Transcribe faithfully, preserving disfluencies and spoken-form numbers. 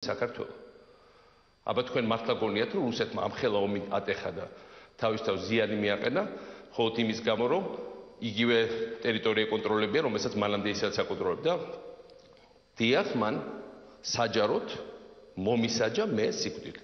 საქართველო. აბა თქვენ მართლა გონიათ რომ რუსეთმა ამ ხელა ომი ატეხა და თავის თავს ზიანი მიაყენა, მხოლოდ იმის გამო რომ იგივე ტერიტორია ეკონტროლებია, რომელსაც მანამდე ისაც აკონტროლებდა. დიახ, მან საჯაროდ მომისაჯა მე სიკვდილი.